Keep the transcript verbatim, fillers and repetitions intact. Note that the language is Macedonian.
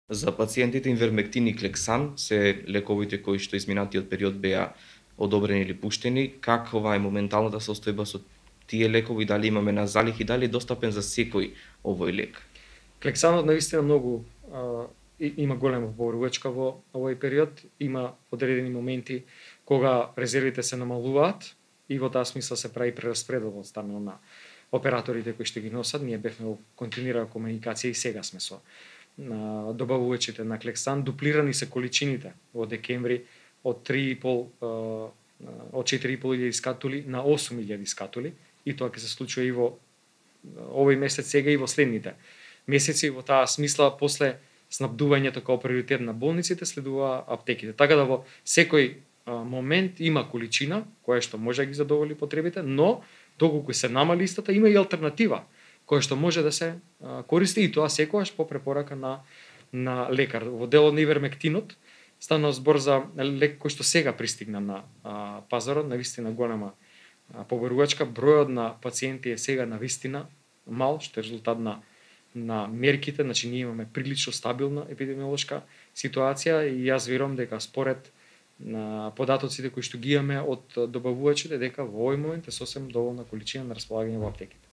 За пациентите инвермектин и клексан се лековите кои што изминатиот период беа одобрени или пуштени. Каква е моменталната состојба со тие лекови, дали имаме на залих и дали е достапен за секој овој лек? Клексанот навистина многу а, има голема поборувачка во овој период, има одредени моменти кога резервите се намалуваат и во таа смисла се прави прераспредел од страна на операторите кои што ги носат. Ние бевме во континуирана комуникација и сега сме со на добавувачите на клексан. Дуплирани се количините во декември од три и пол од четири и пол илјади скатули на осум илјади скатули, и тоа ќе се случува и во овој месец сега и во следните месеци. Во таа смисла после снабдувањето како приоритет на болниците следува аптеките. Така да во секој момент има количина која што може да ги задоволи потребите, но доколку се намали истата, има и алтернатива која што може да се а, користи, и тоа секогаш по препорака на на лекар. Во делот на ивермектинот стана збор за лек кој што сега пристигна на а, пазарот, навистина голема а, поборувачка. Бројот на пациенти е сега навистина мал, што е резултат на на мерките. Значи ние имаме прилично стабилна епидемиолошка ситуација и јас верувам дека според на податоците кои што ги имаме од добавувачите, дека во овој момент е сосем доволна количина на располагање во аптеките.